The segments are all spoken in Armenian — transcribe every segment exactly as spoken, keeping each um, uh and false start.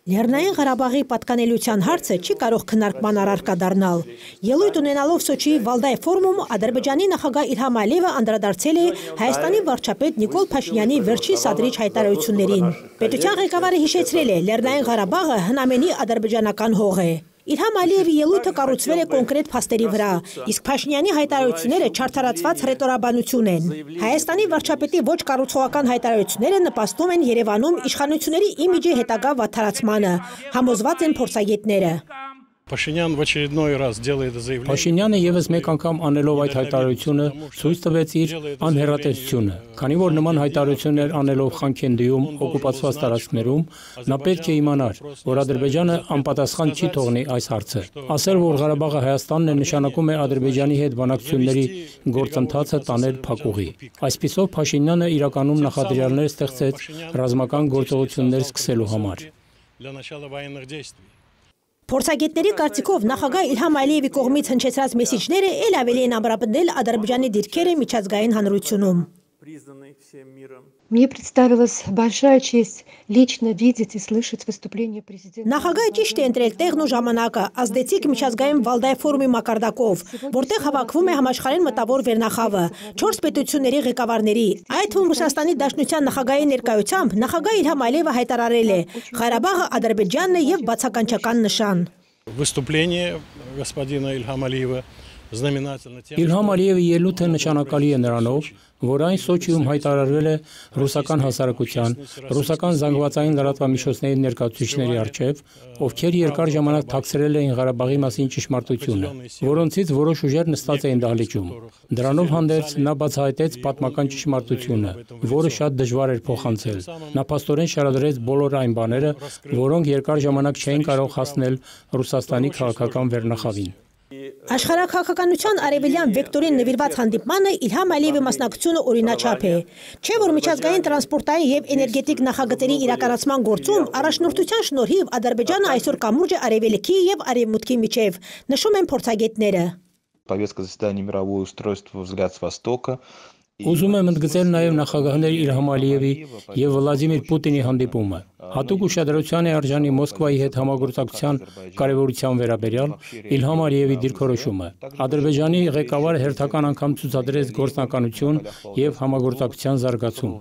Լեռնային Ղարաբաղի պատկանելիության հարցը չի կարող քննարկման առարկա դառնալ։ Ելույթ ունենալով Սոչիի Վալդայ ֆորումում Ադրբեջանի նախագահ Իլհամ Ալիևը անդրադարձել է Հայաստանի վարչապետ Նիկոլ Փաշինյանի վերջի սադրիչ հայտարարություններին։ Պետության ղեկավարը հիշեցրել է, Լեռնային Ղարաբաղը հնամենի ադրբեջանական հող է։ Իլհամ Ալիևի ելույթը կառուցվել է կոնկրետ փաստերի վրա, իսկ Փաշինյանի հայտարարությունները չարդարացված հռետորաբանություն են։ Հայաստանի վարչապետի ոչ կառուցողական հայտարարությունները նպաստում են Երևանում իշխանությունների իմիջի հետագա վատթարացմանը, համոզված են փորձագետները։ Փաշինյանը ևս մեկ անգամ անելով այդ հայտարարությունը ցույց տվեց իր անհեռատեսությունը, քանի որ նման հայտարարություններ անելով Խանքենդիում օկուպացված տարածքներում նա պետք է իմանար, որ Ադրբեջանը անպատասխան չի թողնի այս հարցը։ Ասել, որ Ղարաբաղը Հայաստանն է, նշանակում է Ադրբեջանի հետ բանակցությունների գործընթացը տանել փակուղի։ Այսպիսով Փաշինյանը իրականում նախադրյալներ ստեղծեց ռազմական գործողություններ սկսելու համար։ Փորձագետների կարծիքով նախագահ Իլհամ Ալիևի կողմից հնչեցրած մեսիջները ել ավելի են ամրապնդել Ադրբեջանի դիրքերը միջազգային հանրությունում։ Мне представилась большая честь лично видеть и слышать выступление президента. Նախագահը ճիշտ է ընտրել տեղն ու ժամանակը, ազդեցիկ միջազգային Վալդայ ֆորումի մակարդակով, որտեղ հավաքվում է համաշխարհային մտավոր վերնախավը, չորս պետությունների ղեկավարների, այդ թվում Ռուսաստանի Դաշնության նախագահի ներկայությամբ նախագահ Իլհամ Ալիևը հայտարարել է. Ղարաբաղը Ադրբեջանն է եւ բացականչական նշան։ Выступление господина Ильхама Алиева знаменательно тем, Իլհամ Ալիևի ելույթը նշանակալի է նրանով, որ այն Սոչիում հայտարարվել է ռուսական հասարակության, ռուսական զանգվածային լրատվամիջոցների ներկայացուցիչների առջև, ովքեր երկար ժամանակ թաքցրել էին Ղարաբաղի մասին ճշմարտությունը, որոնցից որոշ ուժեր նստած էին դահլիճում։ Դրանով հանդերձ նա բացահայտեց պատմական ճշմարտությունը, որը շատ դժվար էր փոխանցել։ Նա փաստորեն շարադրեց բոլոր այն բաները, որոնք երկար ժամանակ չէին կարող հասնել Ռուսաստանի քաղաքական վերնախավին։ Աշխարհաքաղաքականության արևելյան վեկտորին նվիրված հանդիպմանը Իլհամ Ալիևի մասնակցությունը օրինաչափ է։ Չէ՞ որ միջազգային տրանսպորտային եւ էներգետիկ նախագծերի իրականացման գործում առաջնորդության շնորհիվ Ադրբեջանը այսօր կամուրջ է արևելքի եւ արևմուտքի միջև, նշում են փորձագետները։ Повестка заседания мировое устройство взгляд с востока. Ուզում եմ ընդգծել նաև նախագահներ Իլհամ Ալիևի եւ Վլադիմիր Պուտինի հանդիպումը։ Հատուկ ուշադրության է արժանի Մոսկվայի հետ համագործակցության կարևորության վերաբերյալ Իլհամ Ալիևի դիրքորոշումը։ Ադրբեջանի ղեկավարը հերթական անգամ ցուցադրեց գործնականություն եւ համագործակցության զարգացում։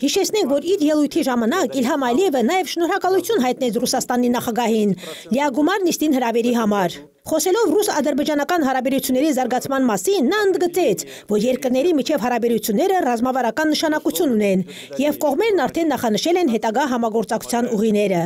Հիշեցնենք, որ իր ելույթի ժամանակ Իլհամ Ալիևը նաև շնորհակալություն հայտնեց Ռուսաստանի նախագահին լիագումար նիստին հրավերի համար։ Խոսելով ռուս-ադրբեջանական հարաբերությունների զարգացման մասին, նա ընդգծեց, որ երկրների միջև հարաբերությունները ռազմավարական նշանակություն ունեն եւ կողմերն արդեն նախանշել են հետագա համագործակցության ուղիները։